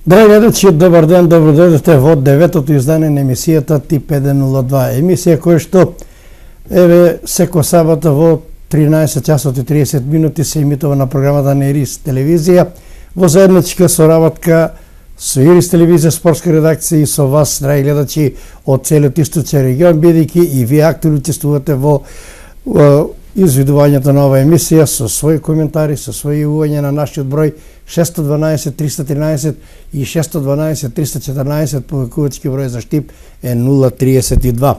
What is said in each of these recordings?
Драги гледачи, добар ден, добро дојдете во деветото издание на емисијата Тип 102. Емисија која што секоја сабота во 13 часот и 30 минути се емитува на програмата на Ирис телевизија во заедничка соработка со Ирис телевизија, спортска редакција и со вас, драги гледачи, од целиот источен регион, бидејќи и вие активно учествувате во извидувањето на оваа емисија со своји коментари, со своји јавувања на нашиот број 612 313 и 612 314, повикувачки број за Штип е 032.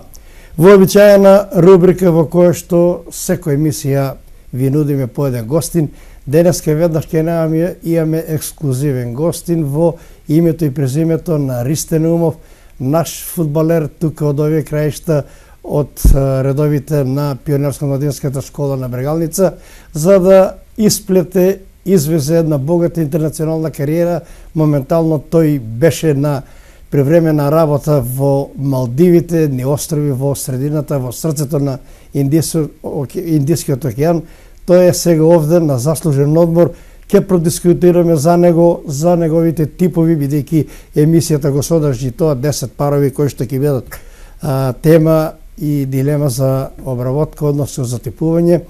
Вообичаена рубрика во која што секоја емисија ви нудиме по еден гостин. Денеска веднаш ќе имаме ексклузивен гостин во името и презимето на Ристен Умов, наш фудбалер тука од овие краишта, од редовите на Пионерско-младинската школа на Брегалница, за да извезе една богата интернационална кариера. Моментално тој беше на превремена работа во Малдивите, ни острови во средината, во срцето на Индискиот океан. Тој е сега овде на заслужен одмор. Ќе продискутираме за него, за неговите типови, бидејќи емисијата го содржи тоа 10 парови кои што ќе бидат тема и дилема за обработка, односно за типување.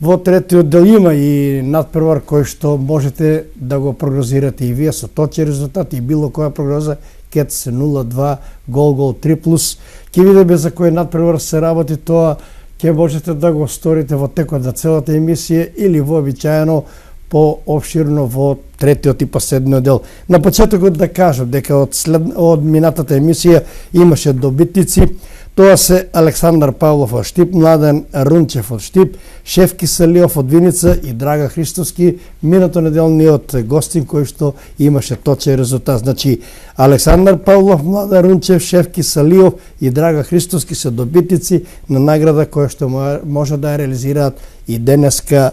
Во третиот дел има и надпревар кој што можете да го прогнозирате и вие со точни резултати и било која прогноза, кет се 0-2, гол 3+. Ќе видиме за кој надпревар се работи, тоа ќе можете да го сторите во текот на целата емисија или вообичаено пообширно во третиот и последниот дел. На почетокот да кажам дека од минатата емисија имаше добитници. Тоа се Александар Павлов од Штип, Младен Рунчев од Штип, Шефки Салиов од Виница и Драга Христоски, минато неделниот гостин кој што имаше точен резултат. Значи, Александар Павлов, Младен Рунчев, Шефки Салиов и Драга Христоски се добитници на награда која што може да ја реализираат и денеска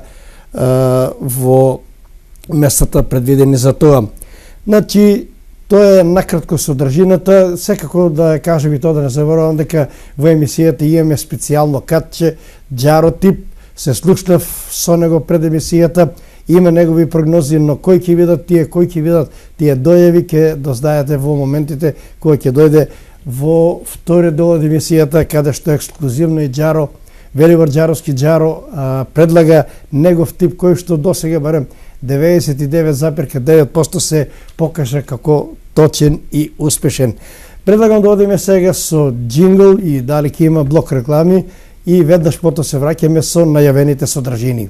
во местата предвидени за тоа. Значи, тоа е накратко содржината. Секако да кажем и тоа, да не заборавам дека во емисијата имаме специјално катче Џаро Тип. Се слушнав со него пред емисијата, има негови прогнози, но кои ќе видат тие дојави, ќе дознаете во моментите кои ќе дојде во вториот дел од емисијата, каде што ексклузивно и Џаро, Велибор Џаровски Џаро, предлага негов тип кој што досега барем 99,9% се покажа како точен и успешен. Предлагам да одиме сега со джингл и дали ќе има блок реклами и веднаш потоа се враќаме со најавените содржини.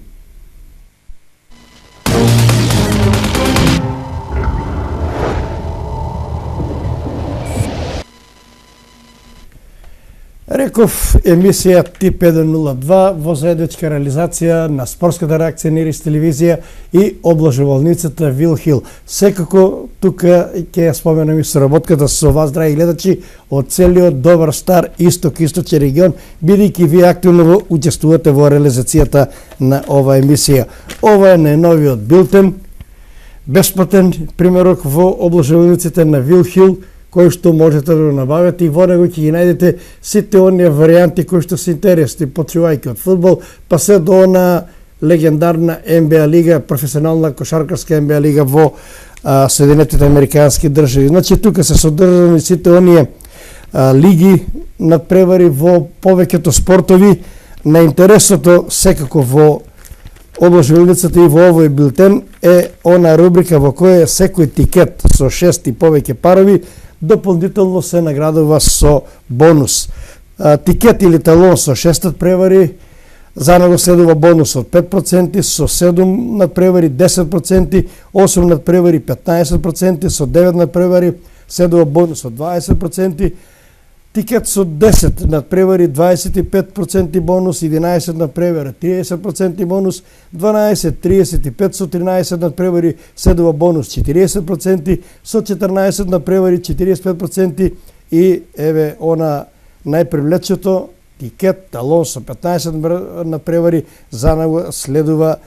Реков, емисија Тип 102 во заедничка реализација на спортската реакција на Ирис телевизија и обложувалницата Вилхил. Секако тука ќе споменам и соработката со вас, драги гледачи, од целиот добар стар источен регион, бидејќи вие активно учествувате во реализацијата на оваа емисија. Ова е најновиот билтен, бесплатен примерок во обложувалниците на Вилхил, кој што можете да набавите и во него ќе ги најдете сите оние варијанти кои што се интересни, почувајќи од фудбал, па се до она легендарна НБА лига, професионална кошаркарска НБА лига во Соединетите американски држави. Значи тука се содржани сите оние лиги надпревари во повеќето спортови. На интересното секако во обложувалницата и во овој билтен е она рубрика во која секој тикет со 6 и повеќе парови дополнително се наградува со бонус. Тикет или талон со 6 надпревари, за него следува бонус од 5%, со 7 надпревари 10%, 8 надпревари 15%, со 9 надпревари следува бонус од 20%, тикет со 10 надпревари 25% бонус, 11 надпревари 30% бонус, 12, 35 со 13 надпревари следува бонус 40%, со 14 надпревари 45% и еве она најпривлечето тикет талон со 15 надпревари, за него следува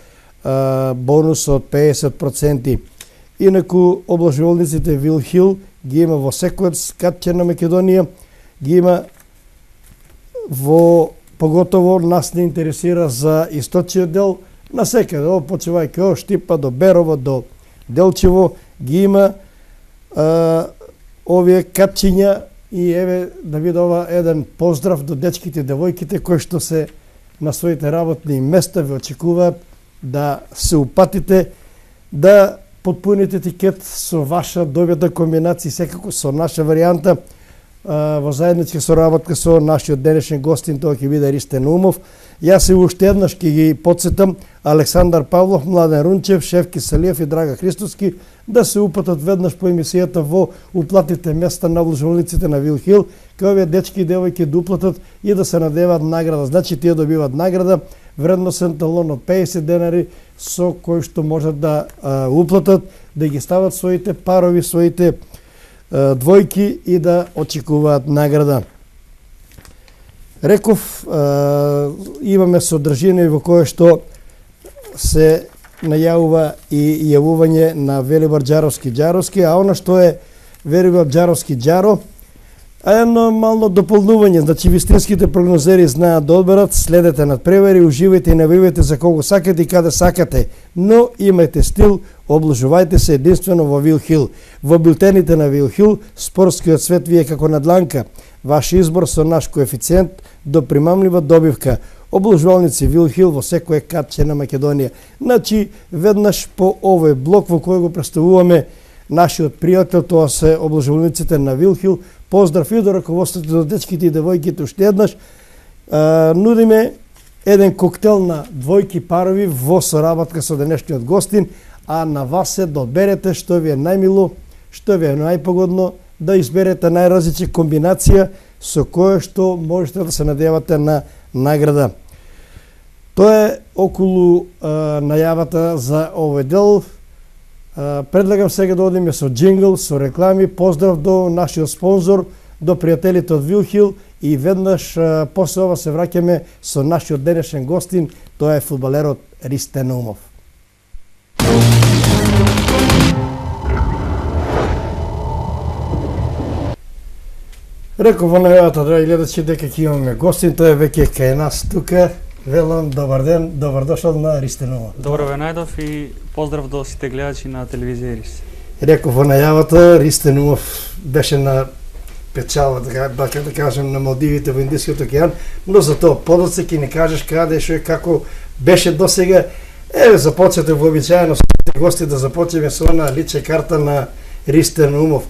бонус од 50%. Инаку обложувалниците Вилхил ги има во секој катче на Македонија, ги има во, поготово нас не интересира за источниот дел, насекаде, почувајќи од Штипа до Берово, до Делчево, ги има овие капчиња и еве да биде ова еден поздрав до дечките и девојките кои што се на своите работни места ве очекуваат да се упатите, да потпуните тикет со ваша добијата комбинација, секако со наша варијанта, во заедничка соработка со нашиот денешен гостин, тоа ќе биде Ристен Умов. Јас и уште еднаш ќе ги потсетам Александар Павлов, Младен Рунчев, Шефки Салиев и Драга Христоски да се упатат веднаш по емисијата во уплатите места на обложувалниците на Вил Хил, кај овие дечки и девојки да уплатат и да се надеваат награда. Значи тие добиваат награда, вредносен талон од 50 денари со кој што можат да уплатат, да ги стават своите парови, своите двојки и да очекуваат награда. Реков, имаме содржина во кое што се најавува и јавување на Велибар Џаровски, а она што е Велибар Џаровски Џаро, едно мално дополнување, значи вистинските прогнозери знаат да одберат, следете надпревари, уживајте и навивајте за кого сакате и каде сакате, но имајте стил, обложувајте се единствено во Вил Хил. Во билтените на Вил Хил, спортскиот свет ви е како на дланка. Ваш избор со наш коефициент до примамлива добивка. Обложувалници Вил Хил во секое катче на Македонија. Значи, веднаш по овој блок во кој го представуваме нашиот пријател, тоа се обложувалниците на Вил Хил. Поздрав и до раководството, до дечките и девојките уште еднаш. Нудиме еден коктел на двојки парови во соработка со денешниот гостин, а на вас се да одберете што ви е најмило, што ви е најпогодно, да изберете најразлични комбинација со кое што можете да се надевате на награда. Тоа е околу најавата за овој дел. Предлагам сега да одиме со джингл, со реклами, поздрав до нашиот спонзор, до пријателите од Вил Хил и веднаш после ова се враќаме со нашиот денешен гостин, тоа е фудбалерот Ристен Умов. Реков во најавата, драги гледачи, дека ќе имаме гостин, тоа е веќе кај нас тука. Велам, добар ден, добар дошол на Ристен Умов. Добро ве најдов и поздрав до сите гледачи на телевизија Ирис. Реков во најавата, Ристен Умов беше на печала, така да кажем, на Малдивите во Индискиот океан, но за тоа подоцна ќе ни кажеш каде, што и како беше досега. Еве, започнете вообичаено со гости да започнеме со она лична карта на Ристен Умов.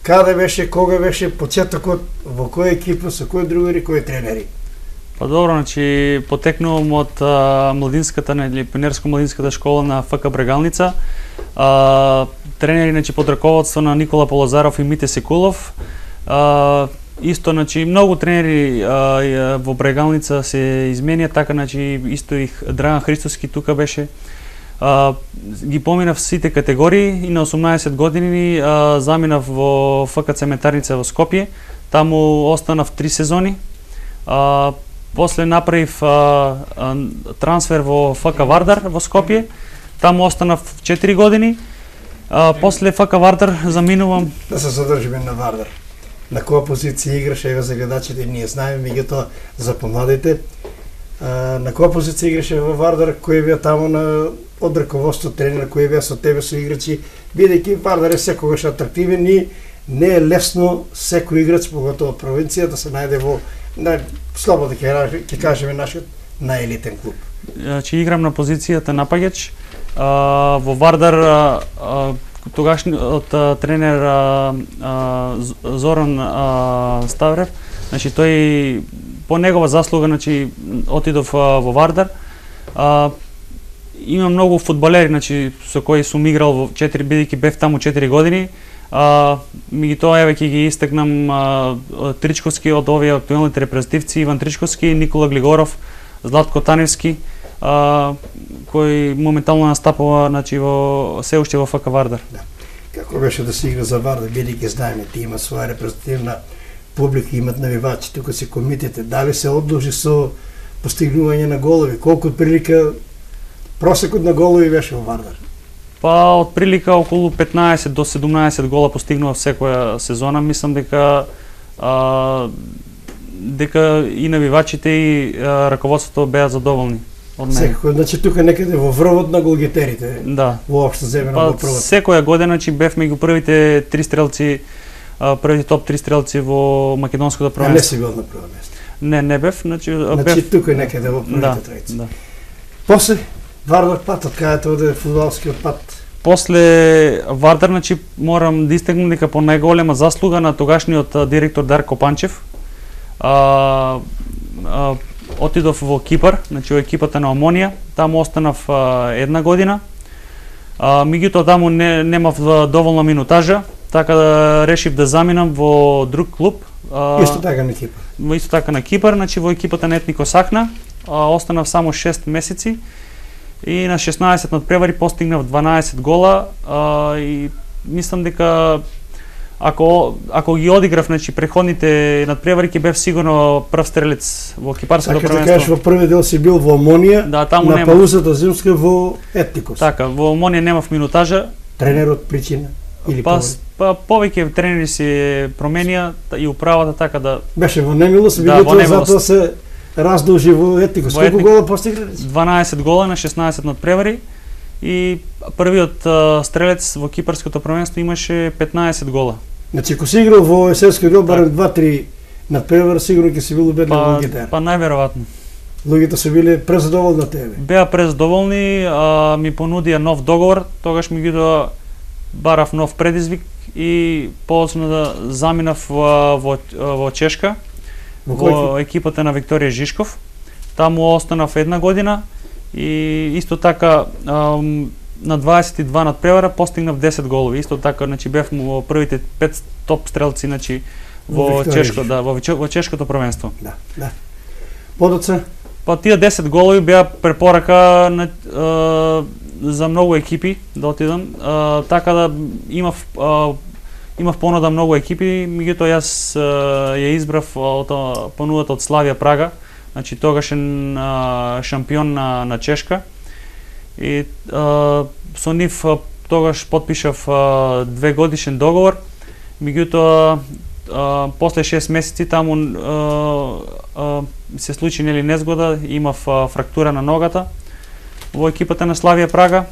Каде беше, кога беше почетокот, во која екипа, со кои другари, кои тренери? Па добро, значи потекнувам од младинската или пионерско-младинската школа на ФК Брегалница. Тренери, значи под раководство на Никола Полозаров и Мите Секулов. Исто, значи многу тренери во Брегалница се изменија, така значи исто и Драган Христоски тука беше. Ги поминав сите категории и на 18 години заминав во ФК Цементарница во Скопје. Таму останав 3 сезони. После направив трансфер во ФК Вардар во Скопје. Таму останав 4 години. После ФК Вардар заминувам. Да се задржиме на Вардар. На која позиција играше, еве за гледачите ние знаеме, меѓутоа за помладите. На која позиција играше во Вардар, кој беа таму на од раководство тренер, кој беа со тебе со играчи, бидејќи Вардар е секогаш атрактивен и не е лесно секој играч, поготово провинција, да се најде во слободно ќе кажеме нашиот најелитен клуб. Значи играм на позицијата напаѓач. Во Вардар тогашниот тренер Зоран Ставрев, значи тој по негова заслуга, значи отидов во Вардар. Има многу фудбалери, значи со кои сум играл во 4, бидејќи бев таму 4 години. Меѓутоа еве ќе ги истакнам Тричковски од овие актуелните репрезентативци, Иван Тричковски, Никола Глигоров, Златко Таневски, кој моментално настапува, значи во се уште во ФК Вардар. Да. Како беше да се игра за Вардар, бидејќи знаеме ти има своја репрезентативна публика, имат навивачи, тука се комитете, дали се одложи со постигнување на голови, колку прилика просекот на голови беше во Вардар? Па од прилика околу 15 до 17 гола постигнува секоја сезона. Мислам дека дека и навивачите и раководството беа задоволни. од мене. Секој, значи тука некаде во врвот на голгетерите. Да. Воопшто земено во првот. Секоја година бев меѓу првите 3 стрелци, првите топ 3 стрелци во македонското првенство. Не си бил на прво место. Не бев, значи бев тука некаде во првите тројци. Да. После Вардар пат, од каде оде фудбалскиот пат? После Вардар, значи морам да истакнам дека по најголема заслуга на тогашниот директор Дарко Панчев, отидов во Кипар, значи во екипата на Омонија, таму останав една година. Меѓутоа таму немав доволна минутажа, така да решив да заминам во друг клуб. Исто така на Кипар. Исто така на Кипар, значи во екипата на Етнико Сахна, останав само 6 месеци и на 16 надпревари постигнав 12 гола и мислам дека ако ги одиграв, значи преходните надпревари, ќе бев сигурно прв стрелец во кипарското првенство. Така да кажеш, во први дел си бил во Омонија, да, таму на паузата зимска во Етникос. Така, во Омонија немав минутажа. Тренерот причина или повеќе тренери се променија и управата, така да беше во немилост, меѓутоа затоа се раздолжи во Етникос. Колку гола постигнале? 12 гола на 16 надпревари и првиот стрелец во кипарското првенство имаше 15 гола. Значи, ако си играл во есенскиот дел барем 2-3 надпревар, сигурно ќе си бил убедлив во гитар. Па најверојатно. Луѓето се биле презадоволни од тебе. Беа презадоволни, ми понудија нов договор, тогаш меѓутоа барав нов предизвик и подоцна да заминав во Чешка, во екипата на Викторија Жишков. Таму останав една година и исто така на 22 надпревара постигнав 10 голови. Исто така, значи бев во првите 5 топ стрелци, значи во Чешко, да, во чешкото првенство. Да, да. Подоцна? Па тие 10 голови беа препорака за многу екипи да отидам, така да имав понуда многу екипи, меѓутоа јас ја избрав понудата од Славија Прага, значи тогашен шампион на Чешка. И со нив тогаш потпишав 2 годишен договор, меѓутоа после 6 месеци таму се случи незгода, имав фрактура на ногата во екипата на Славија Прага.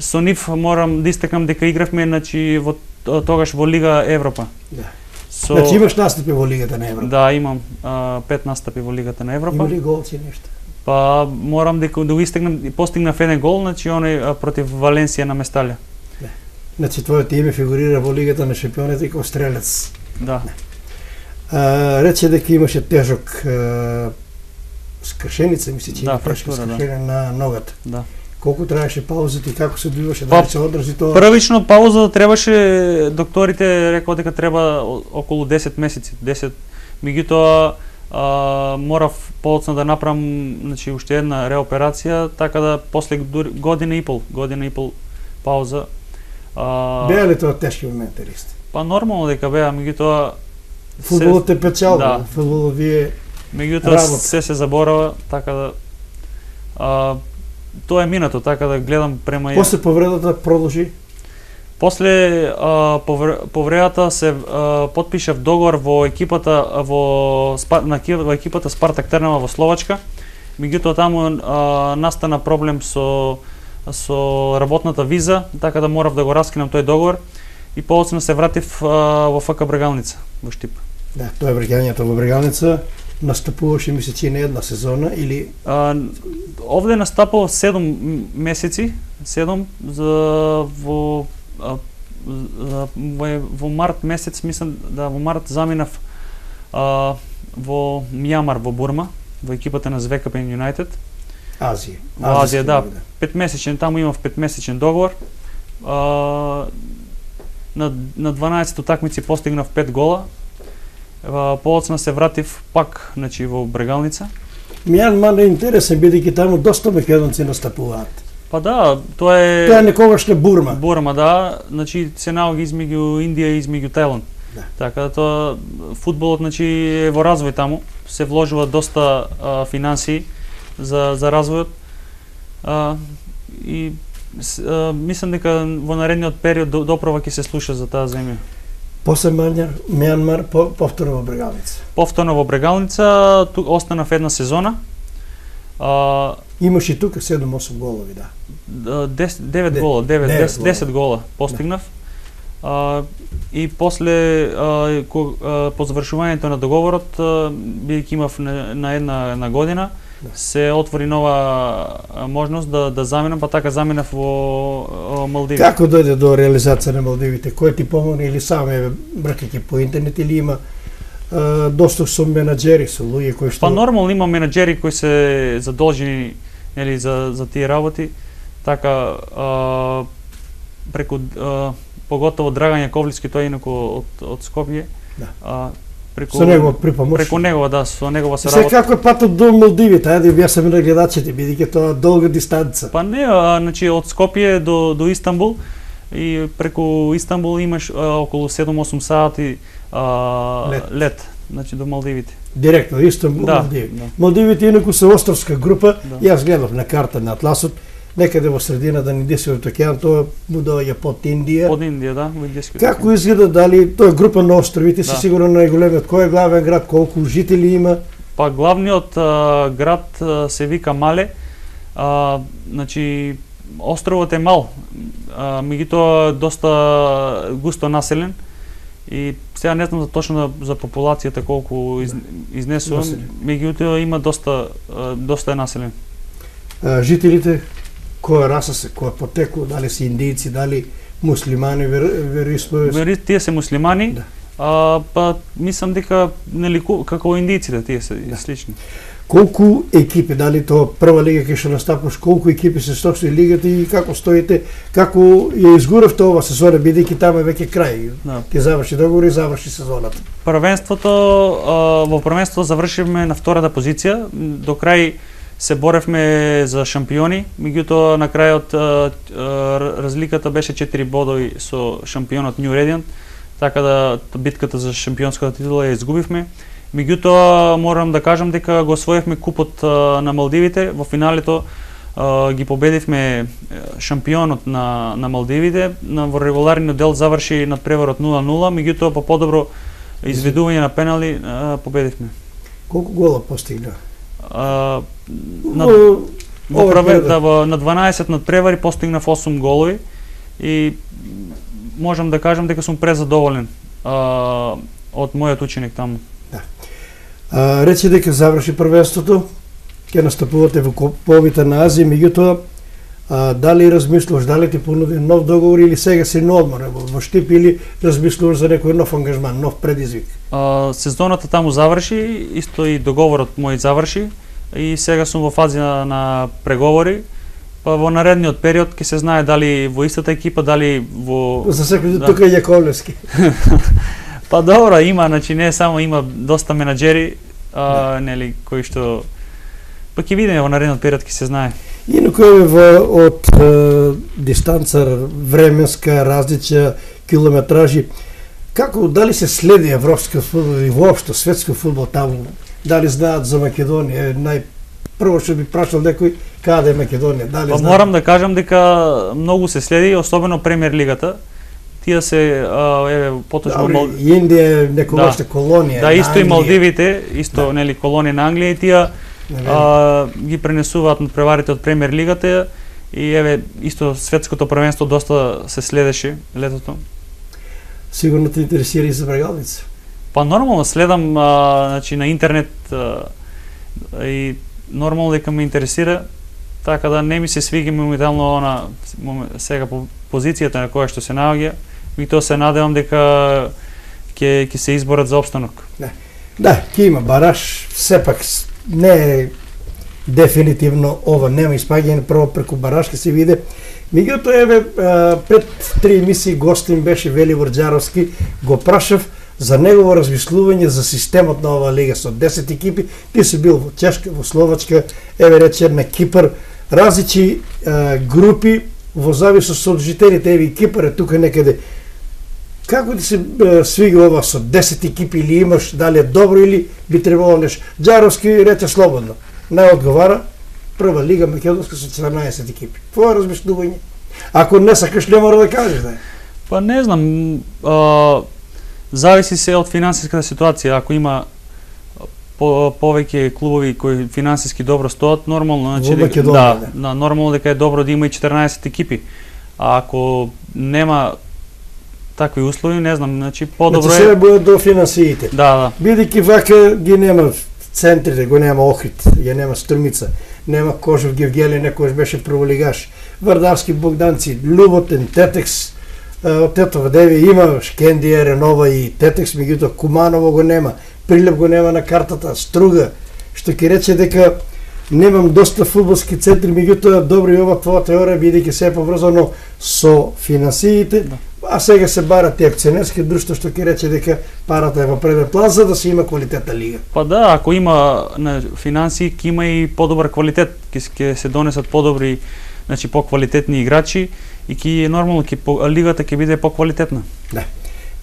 Со нив морам да истакнам дека игравме, значи тогаш во Лига Европа. Да. Значи имаш настапи во Лигата на Европа? Да, имам 5 настапи во Лигата на Европа. Има ли голци нешто? Па морам дека да го истакнам, постигнав еден гол, значи оној против Валенсија на Месталја. Да. Значи твоето име фигурира во Лигата на шампионите како стрелец. Да. Рече дека имаше тежок скршеница, мисли че фрактура, на ногата. Да. Колку траеше паузата и како се одбиваше, да се одржи тоа? Првично пауза требаше, докторите рекоа дека треба околу 10 месеци, 10. Меѓутоа морав подоцна да направам, значи уште една реоперација, така да после година и пол пауза. Беа ли тоа тешки моменти, Ристо? Па нормално дека беа, меѓутоа фудбалот е печал, да. Фудбалот вие меѓутоа се заборава, така да тоа е минато, така да гледам према. После повредата продолжи? После повредата се потпишав договор во екипата во екипата Спартак Трнава во Словачка. Меѓутоа таму настана проблем со работната виза, така да морав да го раскинам тој договор и подоцна се вратив во ФК Брегалница во Штип. Да, тоа е враќањето во Брегалница. Настапуваше мисли че не една сезона или овде настапував 7 месеци, 7 во март месец, мислам да во март заминав во Мјамар во Бурма, во екипата на Звекапен Юнайтед. Азија. Во Азија, да. 5-месечен, таму имав 5-месечен договор. На 12 утакмици постигнав 5 гола. Подоцна се вратив пак, значи во Брегалница. Мјанмар е интересен, бидејќи таму доста македонци настапуваат. Па да, тоа е некогашна Бурма. Бурма, да, значи се наоѓа измеѓу Индија и измеѓу Тајланд. Да. Така да тоа фудбалот, значи е во развој таму, се вложува доста финансии за развојот. И мислам дека во наредниот период доправа ќе се слуша за таа земја. После Мјанмар, повторно во Брегалница. Повторно во Брегалница, тук останав една сезона. Имаш и тука 7-8 голови, да. 9 гола, 10 гола постигнав. И после по завршувањето на договорот, бидејќи имав на една година, се отвори нова можност да заминам, па така заминав во Малдиви. Како дојде до реализација на Малдивите? Кој ти помогна или сам бркајќи по интернет или има доступ со менаџери, со луѓе кои што... Па нормално има менаџери кои се задолжени нели за тие работи. Така преку поготово Драган Јаковлевски, тој инаку од Скопје. Да. Со него припомош. Преку него, да, со негова се работа. Како е патот до Малдивите? Ајде објаснеме на гледачите, бидејќи тоа долга дистанца. Па не, значи од Скопје до Истанбул и преку Истанбул имаш околу 7-8 сати лет, значи до Малдивите. Директно Истанбул, да, Малдиви. Да. Малдивите инаку се островска група. Да. Јас гледав на карта на атласот. Некаде во средина да ни Индискиот океан, тоа му доаѓа под Индија. Под Индија, да, во Индискиот океан. Како изгледа, дали тоа е група на островите, Да. си сигурно најголемиот, кој е главен град, колку жители има? Па главниот град се вика Мале. Значи островот е мал, меѓутоа доста густо населен. И сега не знам точно за популацијата колку изнесувам, меѓутоа има доста е населен. Жителите која раса се, која потекло, дали се индијци, дали муслимани, вероисповест? Тие се муслимани, да. Па мислам дека нели како индијците тие се слични. Колку екипи, дали тоа прва лига кај што настапуваш, колку екипи се состои лигата и како стоите, како ја изгуравте ова сезона, бидејќи таму е веќе крај. Да. Ќе заврши договор и заврши сезоната. Во првенството завршивме на втората позиција, до крај се боревме за шампиони, меѓутоа на крајот разликата беше 4 бодови со шампионот New Radiant, така да битката за шампионската титула ја изгубивме. Меѓутоа морам да кажам дека го освоивме купот на Малдивите, во финалето ги победивме шампионот на Малдивите, во регуларниот дел заврши надпреварот 0-0, меѓутоа по подобро изведување на пенали победивме. Колку гола постигна? На 12 надпревари постигнав 8 голови и можам да кажам дека сум презадоволен од мојот ученик таму. Да. Речи дека заврши првенството, ќе настапувате во куповите на Азија, меѓутоа дали размислуваш, дали ти понуди нов договор или сега си на одмор во Штип или размислуваш за некој нов ангажман, нов предизвик? Сезоната таму заврши, исто и договорот мој заврши и сега сум во фаза на преговори. Па во наредниот период ќе се знае дали во истата екипа, дали во... За секој тука е Јаковлевски. Па добро, има, значи не само има доста менаџери, нели, кои што... Па ќе видиме во наредниот период, ќе се знае. Инаку од дистанца временска, различја, километражи, како, дали се следи европскиот фудбал и воопшто светскиот фудбал таму? Дали знаат за Македонија? Прво што би прашал некој, каде е Македонија? Дали па знаат? морам да кажам дека многу се следи, особено Премиер лигата. Тие се поточно Индија е некогашна колонија. Да, исто и Малдивите, исто нели колонија на Англија и тие ги пренесуваат надпреварите од Премиер лигата и исто светското првенство доста се следеше летото. Сигурно те интересира и за Брегалница. Па нормално следам значи на интернет и нормално дека ме интересира, така да не ми се свиѓа моментално сега по позицијата на која што се наоѓа, и тоа се надевам дека ќе се изборат за опстанок. Да, ќе има бараж, сепак не е дефинитивно ова, нема испаѓање прво преку бараж ќе се види. Меѓутоа пред 3 емисии гостин беше Велибор Џаровски, го прашав за негово размислување за системот на оваа лига со 10 екипи. Ти си бил во Чешка, во Словачка, рече на Кипар, различни групи во зависност од жителите. Кипар е тука некаде. Како ти се свига ова со 10 екипи или имаш, дали е добро или би требало нешто? Џаровски рече слободно. Не одговара, прва лига македонска со 14 екипи. Твое размислување? Ако не сакаш, не мора да кажеш, да. Па не знам, зависи се од финансиската ситуација. Ако има повеќе клубови кои финансиски добро стоат, нормално, значи нормално дека е добро да има и 14 екипи. А ако нема такви услови, не знам, значи подобро е. Сега бидат до финансиите. Да. Бидејќи вака ги нема центрите, го нема Охрид, ја нема Струмица, нема Кожев Гевгели, некојаш беше прволигаш, Вардарски, Богданци, Љуботен, Тетекс, Тетова Деви има Шкендија, Ренова и Тетекс, меѓутоа Куманово го нема, Прилеп го нема на картата, Струга, што ќе рече дека немам доста фудбалски центри, меѓутоа добро и ова твоја теорија, бидејќи се е поврзано со финансиите, а сега се барат и акционерски друштва, што ќе рече дека парата е во преден план за да се има квалитетна лига. Па да, ако има финансии, ќе има и подобар квалитет, ќе се донесат подобри, значи поквалитетни играчи и ќе нормално лигата ќе биде поквалитетна. Да.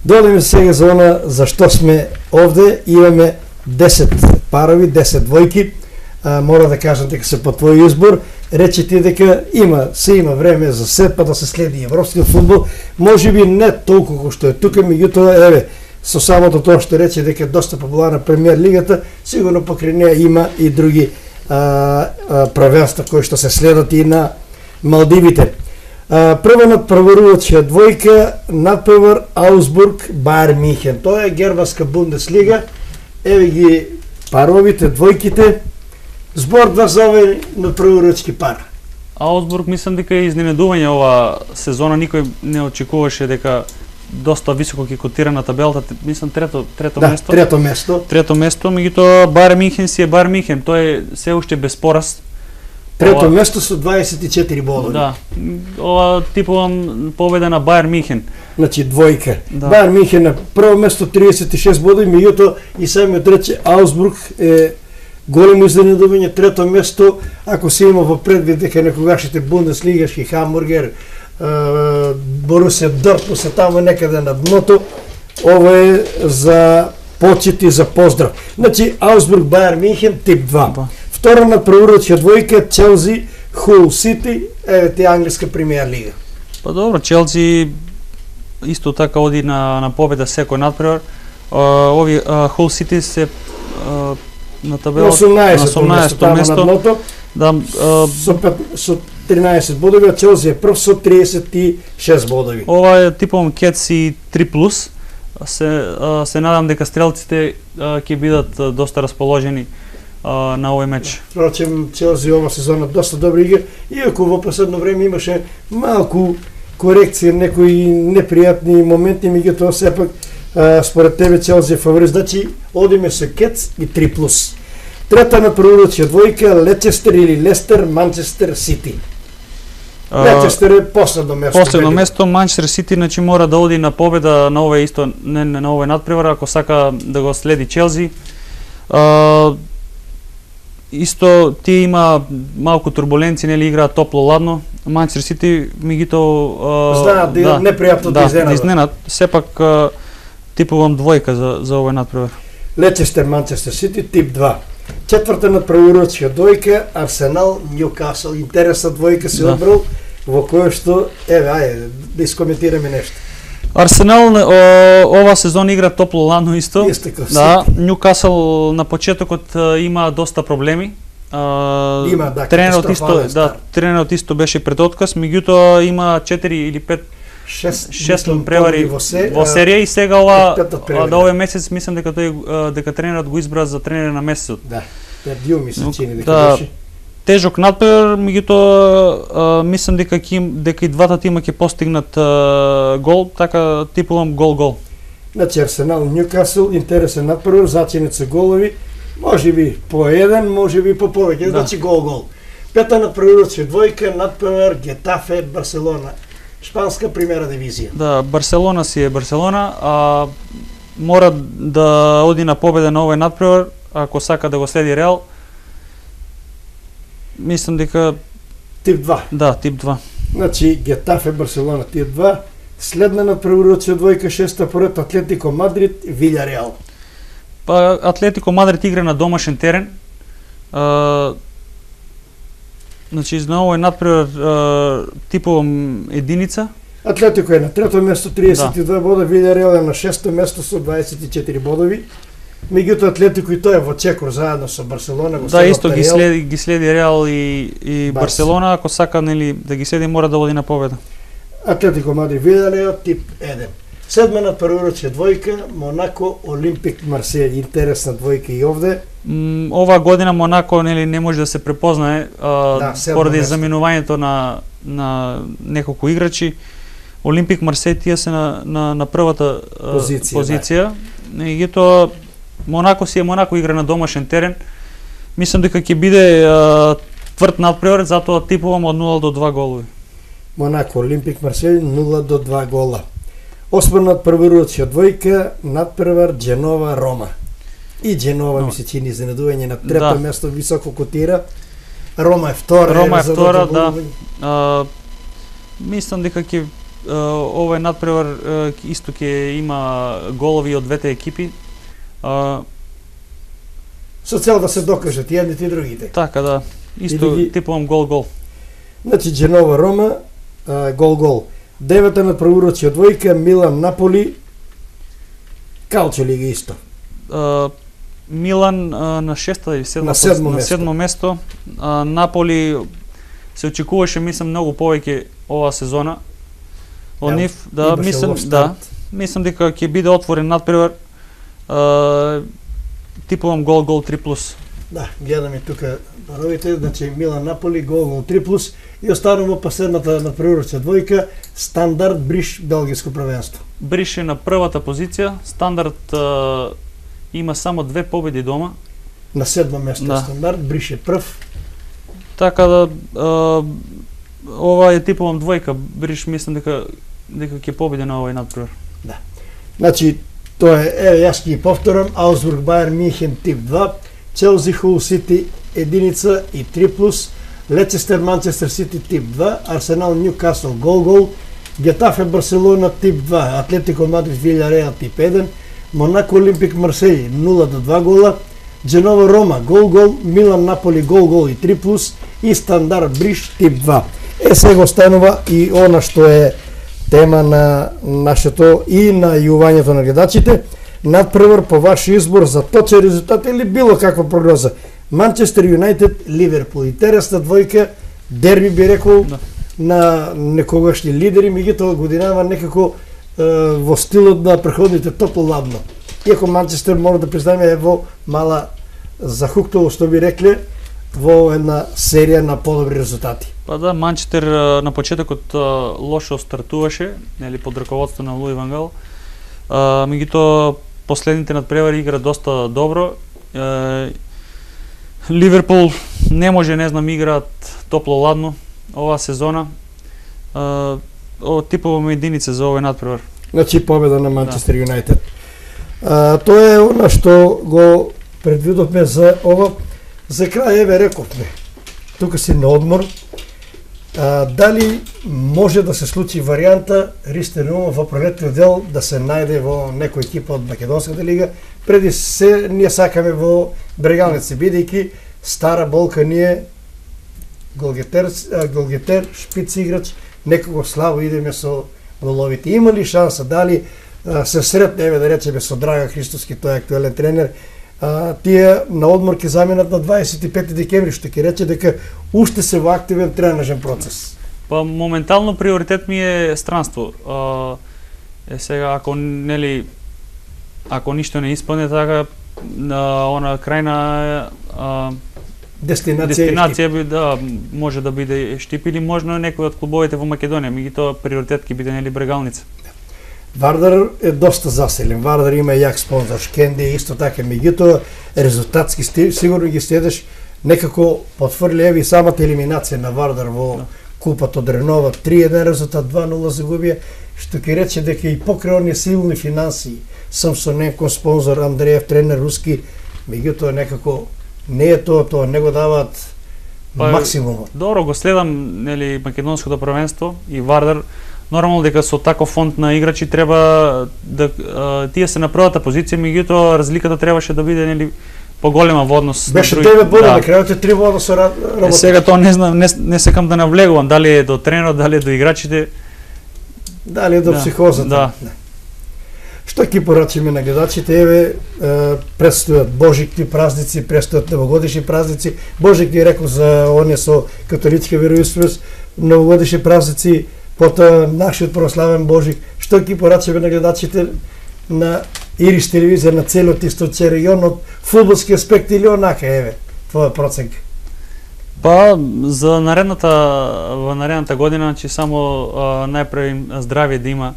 Додеме сега за она за што сме овде, имаме 10 парови, 10 двојки. Мора да кажам дека се по твој избор. Рече ти дека има време за се, па да се следи европскиот фудбал. Можеби не толку кој што е тука, меѓутоа со самото тоа што рече дека е доста популарна премиер лигата, сигурно покрај неа има и други правенства кои што се следат и на Малдивите. Прво надпреварувачка двојка, надпревар Аусбург Баер Михен. Тоа е германска Бундеслига. Еве ги паровите, двојките. Збор два за овој надпреварувачки пар. Аусбург мислам дека е изненадување ова сезона, никој не очекуваше дека доста високо ќе котира на табелата, мислам трето место. Трето место, меѓутоа Баер Михен си е Баер Михен, тој е се уште без пораз. Трето место со 24 бодови. Да. Ова типувам победа на Баер Михен. Значи двојка. Да. Баер Михен на прво место 36 бодови, меѓутоа и самиот рече Аусбург е големо изненадување, трето место, ако се има во предвид дека некогашните бундеслигашки Хамбургер, Борусија Дортмунд се таму некаде на дното, ова е за почит и за поздрав. Значи Аусбург Баер Михен тип 2. Втора надпреварувачка двојка Челси Хул Сити, еве ти англиска премиер лига. Па добро, Челси исто така оди на победа секој надпревар. Ови Хул Сити се на табелата 18 место. Да, со 13 бодови, а Челси е прв со 36 бодови. Ова е типом Кетси 3+. Се надам дека стрелците ќе бидат доста расположени на овој меч. Впрочем, Челси ова сезона доста добра игра, иако во последно време имаше малку корекција, некои непријатни моменти, меѓутоа сепак според тебе Челси е фаворит, значи одиме со Кетс и 3+. Трета надпреварувачка двојка Лечестер или Лестер Манчестер Сити. Лечестер е последно место. Последно место, Манчестер Сити значи мора да оди на победа на овој исто на овој надпревар ако сака да го следи Челси. Исто тие има малку турбуленци, нели играат топло-ладно. Манчестер Сити меѓутоа знаат да непријатно да изненад. Сепак типувам двојка за овој надпревар. Лечестер Манчестер Сити тип 2. Четврта надпреварувачка двојка Арсенал Њукасл. Интересна двојка се одбрал во која што ајде да искоментираме нешто. Арсенал ова сезон игра топло-ладно исто. Да, Њукасл на почетокот има доста проблеми. Има тренерот исто беше пред отказ, меѓутоа има 4 или 5 6 превари во серија и сега овој месец мислам дека тренерот го избра за тренер на месецот. Да. Пердио ми се чини дека беше. Тежок надпревар, меѓутоа мислам дека и двата тима ќе постигнат гол, така типувам гол-гол. Значи Арсенал Њукасл интересен надпревар, зачинет се голови, можеби по еден, можеби по повеќе, значи гол-гол. Пета надпреварувачка двојка надпревар Гетафе Барселона. Шпанска премиера дивизија. Да, Барселона си е Барселона, мора да оди на победа на овој надпревар, ако сака да го следи Реал. Мислам дека тип 2. Да, тип 2. Значи Гетафе Барселона тип 2, следна надпреварувачка двојка шеста поред Атлетико Мадрид Вилјареал. Па Атлетико Мадрид игра на домашен терен. Значи на овој надпревар типувам единица. Атлетико е на трето место 32 бода, Вилјареал е на шесто место со 24 бодови. Меѓутоа Атлетико и тој во чекор заедно со Барселона го Да, исто ги следи Реал и Барселона, ако сака нели да ги следи мора да води на победа. Атлетико Мадрид Вијареал тип 1. Седма надпреварувачка двојка Монако Олимпик Марсеј, интересна двојка и овде. Ова година Монако нели не може да се препознае поради заминувањето на неколку играчи. Олимпик Марсеј тие се на првата позиција. Меѓутоа Монако си е Монако, игра на домашен терен. Мислам дека ќе биде тврд надпревар, затоа типувам од 0 до 2 голови. Монако Олимпик Марсеј 0 до 2 гола. Осма надпреварувачка двојка надпревар Дженова Рома. И Дженова ми се чини изненадување на трето место, високо котира. Рома е втора. Рома е втора, да. Мислам дека ќе овој надпревар исто ќе има голови од двете екипи. Со цел да се докажат и едните и другите. Така да, исто типувам гол-гол. Значи Дженова Рома гол-гол. Девета надпреварувачка двојка Милан Наполи Калчо лига исто. Милан на шеста или седмо место. Наполи се очекуваше, мислам, многу повеќе ова сезона. Од нив, да, мислам дека ќе биде отворен надпревар. Типувам гол 3+. Да, гледаме тука паровите, значи Милан Наполи гол 3+, и останува последната надпреварувачка двојка Стандард Бриш белгиско првенство. Бриш е на првата позиција, Стандард има само 2 победи дома. На седмо место Стандард, Бриш е прв. Така да ова е типувам двојка, Бриш мислам дека ќе победи на овој надпревар. Да. Значи тоа е, јас ќе повторам, Аусбург Бајер Мюнхен тип 2, Челси Хул Сити единица и 3+, Лецестер Манчестер Сити тип 2, Арсенал Ньюкасл гол, Гетафе Барселона тип 2, Атлетико Мадрид Вијареал тип 1, Монако Олимпик Марсеј 0 до 2 гола, Дженова Рома гол, Милан Наполи гол и 3+, и Стандард Бриш тип 2. Сега останува и она што е тема на нашето и на јувањето на гледачите. Надпревар по ваш избор за точен резултат или било каква прогноза. Манчестер Юнајтед Ливерпул. Интересна двојка, дерби би рекол на некогашни лидери, меѓутоа годинава некако во стилот на преходните топло-ладно. Иако Манчестер мора да признаеме е во мала захуктово, што би рекле, во една серија на подобри резултати. Па да, Манчестер на почетокот лошо стартуваше, нели под раководство на Луи ван Гал. Меѓутоа последните надпревари игра доста добро. Ливерпул не може, не знам, играат топло-ладно оваа сезона. Типоваме единица за овој надпревар. Значи победа на Манчестер Юнајтед. Тоа е она што го предвидовме за ова. За крај, еве рековме, тука си на одмор, дали може да се случи варијанта Ристо Наумов во пролетниот дел да се најде во некој екипа од Македонската лига, преди се ние сакаме во Брегалница, бидејќи стара болка ние голгетер, шпиц играч, некако слабо идеме со головите. Има ли шанса, дали се сретне, еве да речеме со Драга Христоски, тој е актуелен тренер, тие на одмор ќе заменат на 25 декември, што ќе рече дека уште се во активен тренажен процес. Па моментално приоритет ми е странство. Сега ако нели ако ништо не исполне, така она крајна дестинација би да може да биде Штип или можно некој од клубовите во Македонија, меѓутоа приоритет ќе биде нели Брегалница. Вардар е доста заселен. Вардар има јак спонзор, Шкенди исто така, меѓутоа резултатски сигурно ги следеш, некако потврли еви самата елиминација на Вардар во купата од Ренова, 3-1 резултат, 2-0 загубија, што ќе рече дека и покрај оние силни финансии, Самсоненко спонзор, Андреев тренер руски, меѓутоа некако не е тоа, не го даваат максимумот. Добро, го следам нели македонското првенство и Вардар. Нормално дека со таков фонд на играчи треба да тие се на првата позиција, меѓутоа разликата требаше да биде нели поголема во однос. Беше 9 бода, на крајот е 3 бода со работа. Сега тоа не знам, не секам да навлегувам дали е до тренерот, дали е до играчите, дали е до психозата. Да. Што Што ќе порачиме на гледачите? Еве, предстојат божикни празници, предстојат новогодишни празници. Божик ги рекол за оние со католичка вероисповест, новогодишни празници, потоа нашиот православен Божик. Што ќе порачиме на гледачите на Ирис телевизија, на целиот источен регион, од фудбалски аспект или онака, еве, твоја проценка? Па, за наредната година, значи само најпрво здравје да има,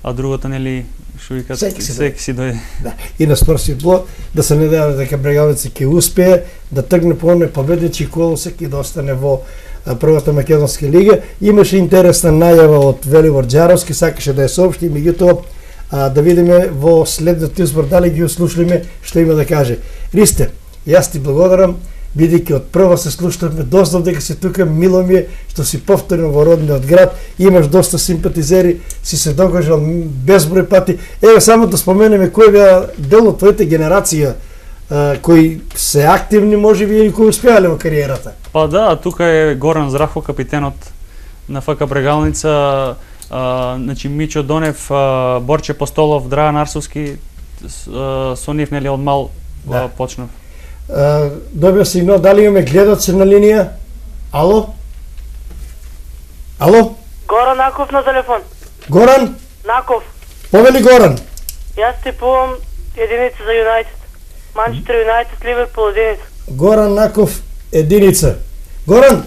а другото, нели, што викат, секи си дојде. Да. И на спортскиот блок, да се надеваме дека Брегалница ќе успее да тргне по оној победнички колосек и да остане во првата македонска лига. Имаше интересна најава од Велибор Џаровски, сакаше да ја соопшти, меѓутоа да видиме во следниот избор дали ги услушливме што има да каже. Ристе, јас ти благодарам, бидејќи од прва се слушнавме, дознав дека си тука, мило ми е што си повторно во родниот град, имаш доста симпатизери, си се докажал безброј пати. Еве само да споменеме кој беа дел од твоите генерација, кои се активни можеби и кои успеале во кариерата. Па да, тука е Горан Зрахов, капитенот на ФК Брегалница, значи Мичо Донев, Борче Постолов, Драјан Арсовски, со нив нели од мал почнав. Добија сигнал, дали имаме гледачи на линија? Ало? Ало? Горан Наков на телефон. Горан? Наков. Повели Горан. Јас типувам единица за Юнайтед. Манчестер Юнайтед, Ливерпул единица. Горан Наков единица. Горан?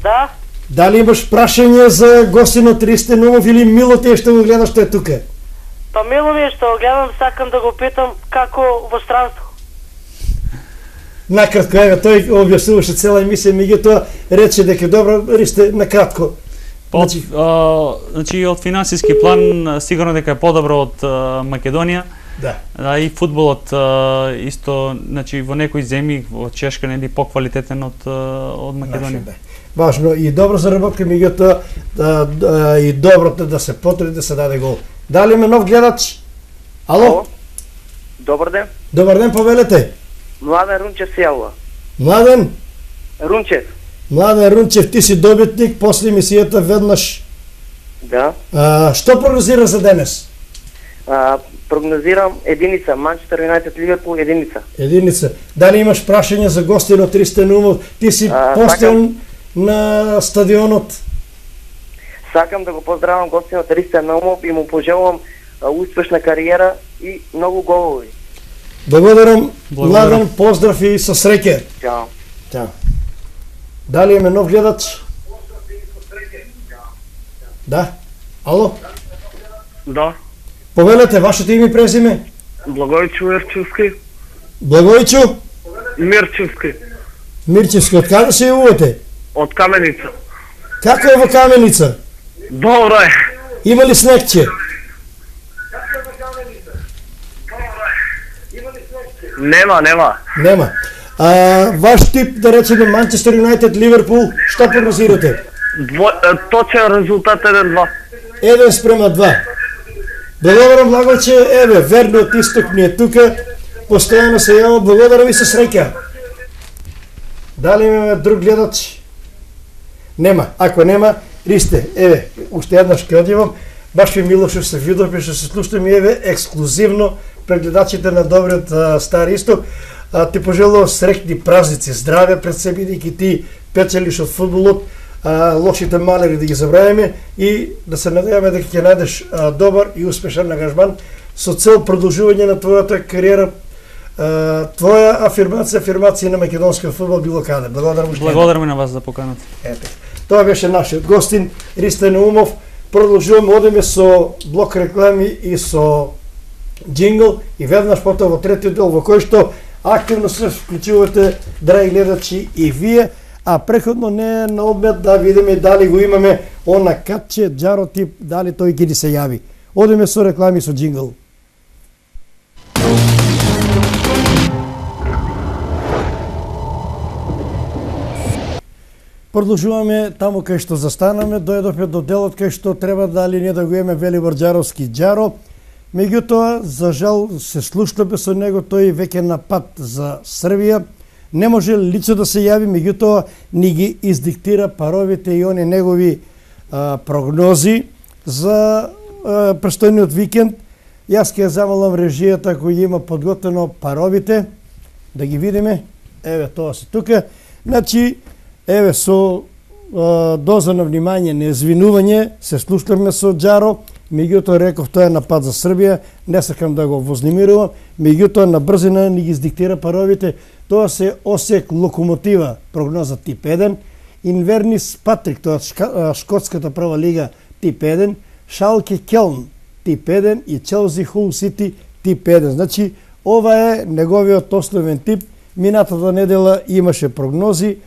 Да? Дали имаш прашање за гостинот Ристе Наумов или мило ти е што го гледаш што е тука? Па мило ми е што го гледам, сакам да го питам како во странство. Накратко, еве, тој објаснуваше цела емисија, меѓутоа рече дека добро, Ристе, накратко. Значи, од финансиски план, сигурно дека е подобро од Македонија. Да. И фудбалот исто, значи, во некои земји, во Чешка, нели поквалитетен од Македонија. Да. Важно и добро заработка, меѓутоа и доброто да се потруди да се даде гол. Дали има нов гледач? Ало? Добар ден. Добар ден, повелете. Младен Рунчев се јавува. Младен? Рунчев. Младен Рунчев, ти си добитник после емисијата веднаш. Да. Што прогнозира за денес? Прогнозирам единица, Манчестер Юнайтед, Ливерпул единица. Единица. Дали имаш прашање за гостинот Ристе Наумов? Ти си постел на стадионот. Сакам да го поздравам гостинот Ристе Наумов и му пожелувам успешна кариера и многу голови. Благодарам, Младен, поздрав и со среќа. Чао. Чао. Дали имаме нов гледач? Да. Ало? Да. Повелете, вашето име и презиме? Благојчо Мирчевски. Благојчо? Мирчевски. Мирчевски, од каде се јавувате? Од Каменица. Како е во Каменица? Добро е. Има ли снегче? Нема. Нема. Ваш тип, да речеме, Манчестер Юнайтед, Ливерпул, што прогнозирате? Точен резултат 1-2. 1-2. Благодарам, Благојче, еве, верниот исток ми е тука, постојано се јава, благодарам и се среќа. Дали имаме друг гледач? Нема. Ако нема, Ристе, еве, уште еднаш ќе одивам, баш ви мило што се видовме, што се слушаме, еве, ексклузивно пред гледачите на добриот Стар Исток. Ти пожелувам среќни празници, здраве пред себе, бидејќи ти печелиш од фудбалот, лошите малери да ги забравиме и да се надеваме дека ќе најдеш добар и успешен ангажман со цел продолжување на твојата кариера, твоја афирмација на македонскиот фудбал било каде. Благодарам и на вас за поканата. Ете. Тоа беше нашиот гостин Ристе Наумов. Продолжуваме, одиме со блок реклами и со джингл и веднаш потоа во третиот дел во кој што активно се вклучувате, драги гледачи, и вие, а преходно не е на одмет да видиме дали го имаме она катче, Џаро тип, дали тој ќе ни се јави. Одиме со реклами, со джингл. Продолжуваме таму кај што застанаме, дојдовме до делот кај што треба дали не да го имаме Велибор Џаровски Џаро. Меѓутоа, за жал, се слушнаме со него, тој веќе на пат за Србија. Не може лично да се јави, меѓутоа ни ги издиктира паровите и они негови прогнози за престојниот викенд. Јас ќе замолам режијата кој ги има подготвено паровите, да ги видиме. Еве, тоа се тука. Значи, еве, со доза на внимание, неизвинување, се слушнавме со Џаро, меѓутоа реков тоа е напад за Србија, не сакам да го вознемирувам, меѓутоа на брзина ни ги издиктира паровите. Тоа се Осек Локомотива, прогноза тип 1, Инвернис Патрик, тоа шкотската прва лига тип 1, Шалке Келн тип 1 и Челси Хул Сити тип 1. Значи, ова е неговиот основен тип. Минатата недела имаше прогнози,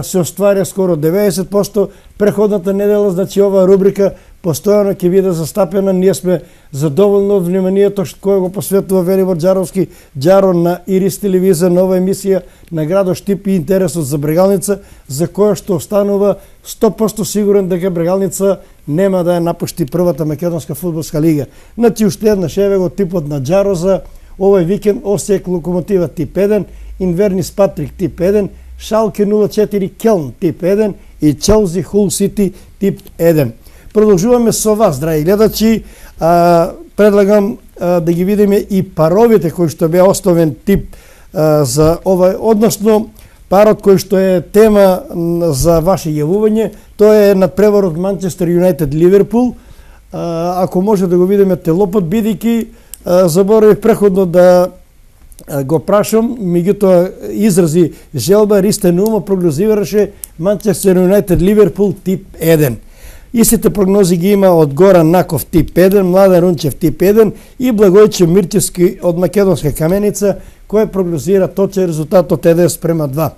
се остваря скоро 90%. Преходната недела, значи ова рубрика постојано ќе биде застапена. Ние сме задоволно вниманието кое го посветува Велибор Џаровски, Џаро на Ирис телевизија, нова емисија на градот Штип и интересот за Брегалница, за која што останува 100% сигурен дека Брегалница нема да ја напушти првата македонска фудбалска лига. Значи уште еднаш еве го типот на Џаро за овој викенд: Осек Локомотива тип 1, Инвернис Патрик тип 1, Шалке 04 Келн тип 1 и Челси Хул Сити тип 1. Продолжуваме со вас, драги гледачи. Предлагам да ги видиме и паровите кои што беа основен тип за овај, односно парот кој што е тема за ваше јавување. Тоа е надпреварот Манчестер Юнајтед Ливерпул. Ако може да го видиме телопот, бидејќи заборавив преходно да го прашам, меѓутоа изрази желба, Ристен Умо прогнозираше Манчестер Юнајтед Ливерпул тип 1. Истите прогнози ги има од Горан Наков тип 1, Младен Рунчев тип 1 и Благојче Мирчевски од Македонска Каменица, кој прогнозира точен резултат од 1:2.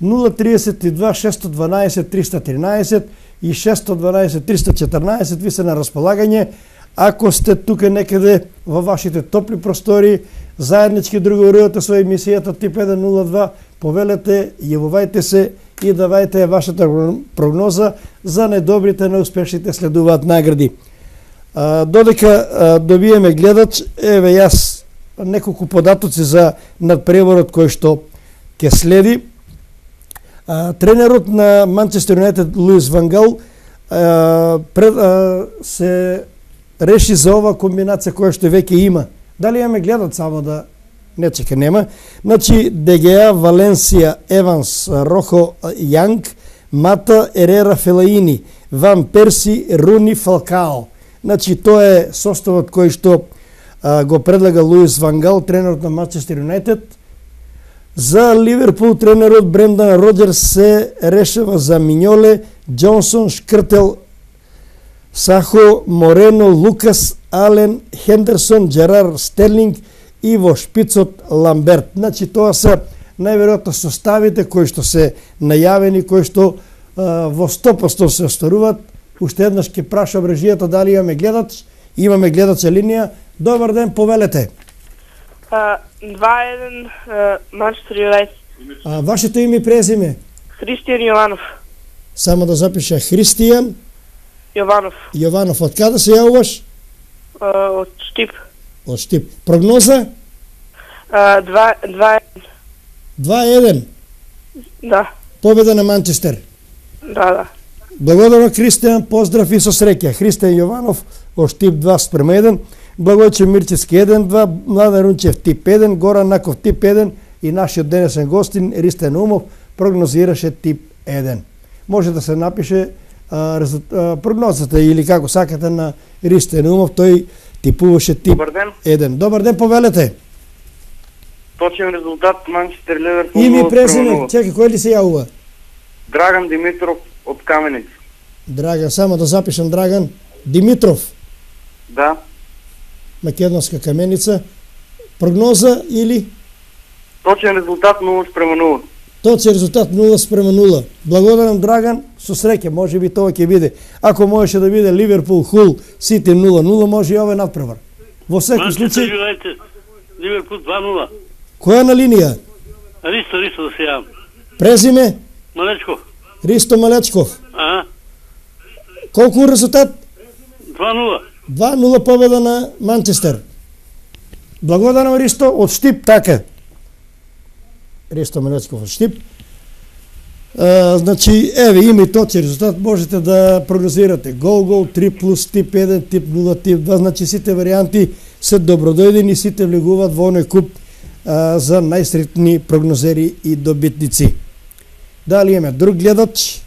032 612 313 и 612 314 ви се на располагање. Ако сте тука некаде во вашите топли простори, заеднички другарувате со емисијата тип 102, повелете, јавувајте се и давајте вашата прогноза. За најдобрите, неуспешните следуваат награди. Додека добиеме гледач, еве јас неколку податоци за надпреварот кој што ќе следи. Тренерот на Манчестер Юнајтед Луис Ван Гал се реши за ова комбинација која што веќе има. Дали имаме гледач, само да не чека, нема. Значи, ДГА, Валенсија, Еванс, Рохо, Јанг, Мата, Ерера, Фелаини, Ван Перси, Руни, Фалкао. Значи, тоа е составот кој што го предлага Луис Ван Гал, тренерот на Манчестер Юнајтед. За Ливерпул тренерот Брендан Роджерс се решава за Миньоле, Џонсон, Шкртел, Сахо, Морено, Лукас, Ален, Хендерсон, Джерар, Стерлинг и во шпицот Ламберт. Значи, тоа се најверојатно составите кои што се најавени, кои што во 100% се остваруваат. Уште еднаш ќе прашам режијата дали имаме гледач. Имаме гледача линија. Добар ден, повелете. 2-1 Манчестер Юнајтед. Вашето име и презиме? Христијан Јованов. Само да запиша: Христијан Јованов. Јованов. Од каде се јавуваш? Од Штип. Од Штип. Прогноза? 2-1. 2-1. Да. Победа на Манчестер. Да. Благодарам, Христијан, поздрав и со среќа. Христијан Јованов од Штип 2:1, Благојче Мирчевски 1-2, Младен Рунчев тип 1, Горан Наков тип 1 и нашиот денесен гостин Ристен Умов прогнозираше тип 1. Може да се напише прогнозата или како сакате на Ристен Умов, тој типуваше тип 1. Добар ден, повелете. Точен резултат Манчестер Ливерпул. Име и презиме, чекај, кој ли се јавува? Драган Димитров од Каменица. Драган, само да запишам: Драган Димитров. Да. Македонска Каменица. Прогноза или? Точен резултат 0:0. Точен резултат 0:0. Благодарам, Драган, со среќа, може би тоа ќе биде. Ако можеше да биде Ливерпул Хул Сити 0:0, може и овој надпревар. Во секој случај Ливерпул 2:0. Која на линија? Ристо да се јавам. Презиме? Малечков. Ристо Малечков. Колку резултат? 2:0. 2:0 победа на Манчестер. Благодарам, Ристо од Штип, така. Ристо Малечков од Штип. Значи, еве, има и точен резултат, можете да прогнозирате. Гол, 3+, тип 1, тип 0, тип 2, значи сите варијанти се добродојдени, сите влегуваат во оној куп за најсретни прогнозери и добитници. Дали имаме друг гледач?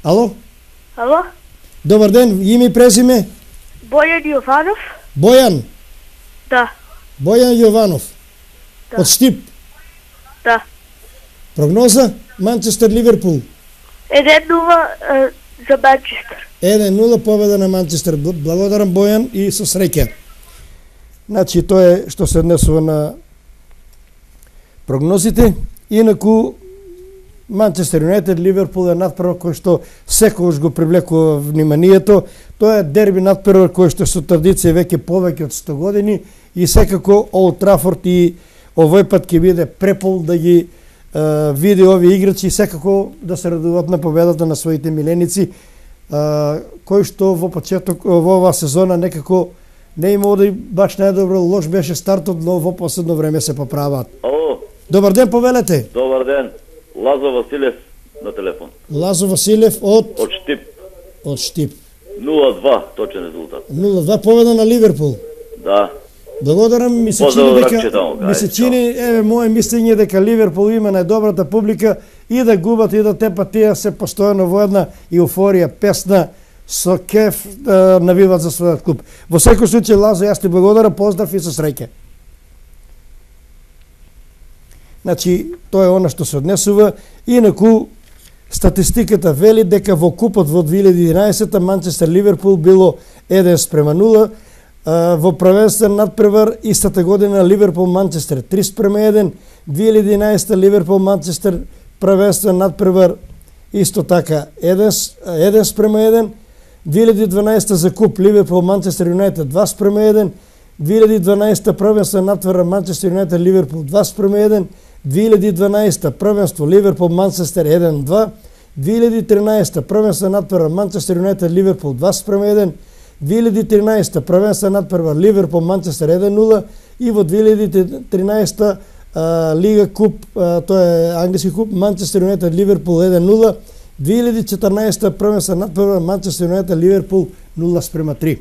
Ало? Ало? Добар ден, име и презиме? Бојан Јованов? Бојан. Да. Бојан Јованов. Да. Од Штип. Да. Прогноза? Манчестер Ливерпул. 1-0 за Манчестер. 1-0 победа на Манчестер. Благодарам Бојан и со среќа. Значи тоа е што се однесува на прогнозите. Инаку Манчестер Юнайтед Ливерпул е надпревар кој што секогаш го привлекува вниманието. Тоа е дерби надпревар кој што со традиција веќе повеќе од 100 години и секако Олд Трафорд и овој пат ќе биде препол да ги види овие играчи и секако да се радуваат на победата на своите миленици, кој што во почеток во оваа сезона некако не имало да баш најдобро, лош беше стартот, но во последно време се поправаат. Ало. Добар ден, повелете. Добар ден. Лазо Василев на телефон. Лазо Василев од Штип. Од Штип. 0-2 точен резултат. 0-2 победа на Ливерпул. Да. Благодарам, ми се чини еве моје мислење дека Ливерпул има најдобрата публика и да губат и да тепат тие се постојано во една еуфорија песна со кеф навиват за својот клуб. Во секој случај, Лазо, јас ти благодарам, поздрав и со среќа. Значи, тоа е она што се однесува. Инаку, статистиката вели дека во купот во 2011 Манчестер Ливерпул било 1-0, во првенствен надпревар истата година Ливерпул Манчестер 3-1, 2011 Ливерпул Манчестер првенствен надпревар исто така 1-1, 2012 за куп Ливерпул Манчестер Юнайтед 2-1, 2012 првенствен надпревар Манчестер Юнайтед Ливерпул 2-1, 2012 првенство Ливерпул Манчестер 1-2, 2013 првенствен надпревар Манчестер Юнайтед Ливерпул 2-1, 2013 првенствен надпревар Ливерпул Манчестер 1-0 и во 2013 Лига куп, тоа е англиски куп, Манчестер Юнайтед Ливерпул 1-0, 2014 првенствен надпревар Манчестер Юнайтед Ливерпул 0-3.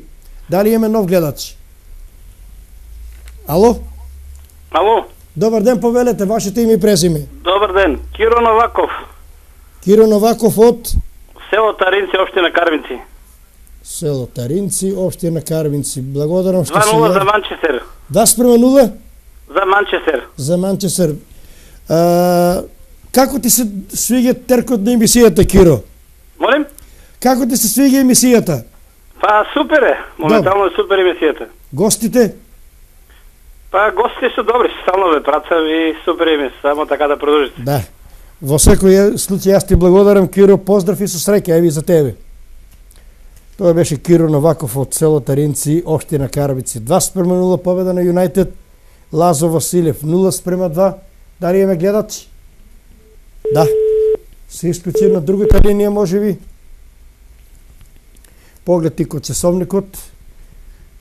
Дали имаме нов гледач? Ало? Ало? Добар ден, повелете, вашето име и презиме. Добар ден. Киро Новаков. Киро Новаков од село Таринци, општина Карвинци. Село Таринци, општина Карвинци. Благодарам што се 2-0 за Манчестер. 2-0? За Манчестер. За Манчестер. Како ти се свиѓа теркот на емисијата, Киро? Молим? Како ти се свиѓа емисијата? Па супер е. Моментално е супер емисијата. Гостите? Па гостите се добри, стално ве працав и супер емисија, само така да продолжите. Да. Во секој случај јас ти благодарам, Киро, поздрав и со среќа, еви за тебе. Тоа беше Киро Новаков од село Таринци, општина Карвици. 2-0 победа на Юнайтед. Лазо Василев 0-2. Дали имаме гледач? Да. Се исклучи на другата линија, можеби. Поглед и код часовникот.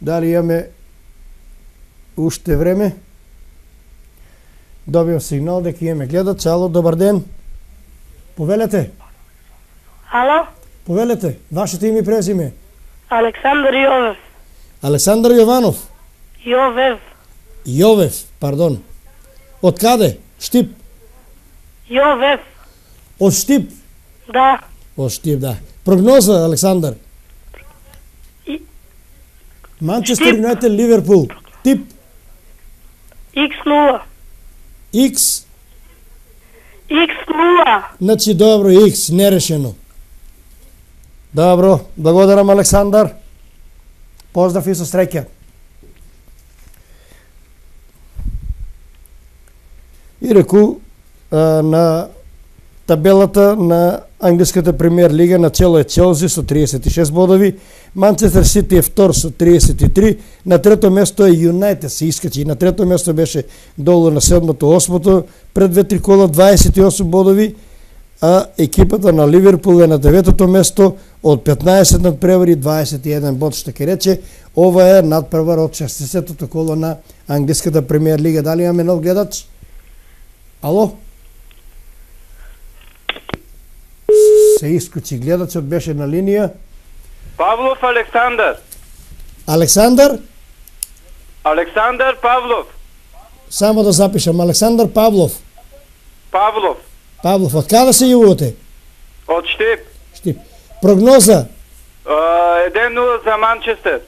Дали имаме уште време? Добивам сигнал дека имаме гледач. Ало, добар ден. Повелете. Ало? Повелете. Вашето име и презиме. Александар Јовев. Александар Јованов. Јовев. Јовев, пардон. Од каде? Штип. Јовев. Од Штип. Да. Од Штип, да. Прогноза, Александар. Манчестер Юнайтед Ливерпул. Тип. X0. X. X0. Значи добро, X, нерешено. Добро, благодарам, Александар. Поздрав и со среќа. И реку на табелата на англиската премиер лига начело е Челси со 36 бодови, Манчестер Сити е втор со 33, на трето место е Юнайтед се искачи, на трето место беше долу на седмото, осмото, пред 2-3 кола 28 бодови, а екипата на Ливерпул е на деветото место од 15 надпревари 21 бод, што ке рече, ова е надпревар од 60-тото коло на англиската премиер лига. Дали имаме нов гледач? Ало? Се исклучи гледачот, беше на линија. Павлов Александар. Александар? Александар Павлов. Само да запишам. Александар Павлов. Павлов. Павлов, од каде се јувате? Од Штип. Штип. Прогноза? 1-0 за Манчестер.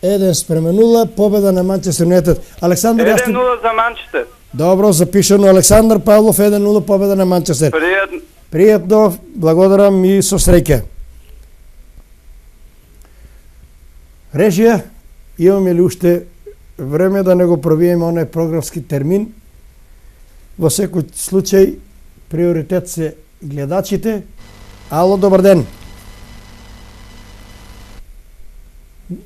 1-0, победа на Манчестер Юнайтед. Александар, 1-0 за Манчестер. Добро, запишано. Александар Павлов, 1-0, победа на Манчестер. Пријатно. Пријатно, благодарам и со среќа. Режија, имаме ли уште време да не го пробиеме оној програмски термин? Во секој случај, приоритет се гледачите. Ало, добар ден.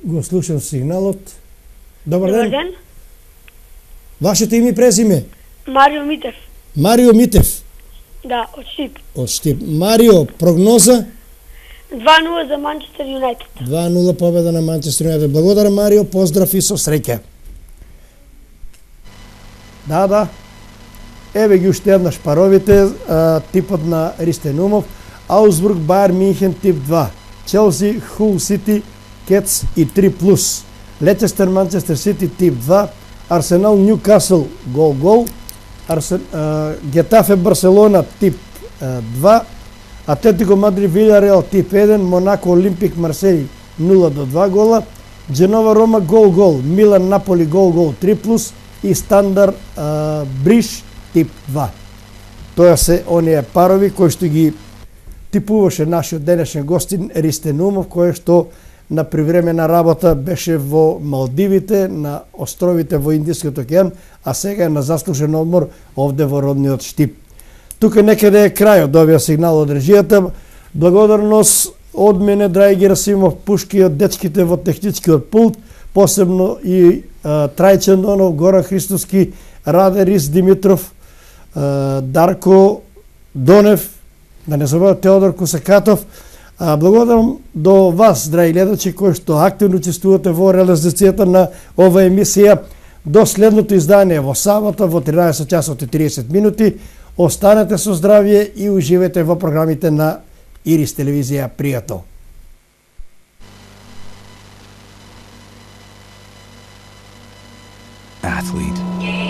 Го слушам сигналот. Добар Добар ден. ден. Вашето име и презиме? Марио Митев. Марио Митев. Да, од Штип. Од Штип. Марио, прогноза? 2-0 за Манчестер Юнайтед. 2-0 победа на Манчестер Юнайтед. Благодарам, Марио, поздрав и со среќа. Да. Еве ги уште еднаш паровите, типот на Ристен Умов. Аусбург, Бајер Минхен, тип 2. Челси, Хул Сити, Кетс и 3+. Лечестер, Манчестер Сити, тип 2. Арсенал, Ньюкасл, гол. Гетафе, Барселона, тип 2. Атлетико Мадрид, Вилјареал, тип 1. Монако, Олимпик, Марсеј, 0-2 гола. Дженова, Рома, гол. Милан, Наполи, гол, 3+. И Стандар, Бриш, тип 2. Тоа се оние парови кои што ги типуваше нашиот денешен гостин Ристен Умов, кој што на привремена работа беше во Малдивите, на островите во Индискиот океан, а сега е на заслужен одмор овде во родниот Штип. Тука некаде е крајот до овие сигнал од режијата. Благодарност од мене, драги Герасимов Пушки, од дечките во техничкиот пулт, посебно и Трајчен Донов, Горан Христоски, Раде Рис Димитров, Дарко Донев, да не забравам Теодор Косакатов. Благодарам до вас, драги гледачи, кои што активно учествувате во реализацијата на ова емисија. До следното издание во сабота во 13 часот и 30 минути. Останете со здравје и уживете во програмите на Ирис телевизија. Пријатно. Athlete.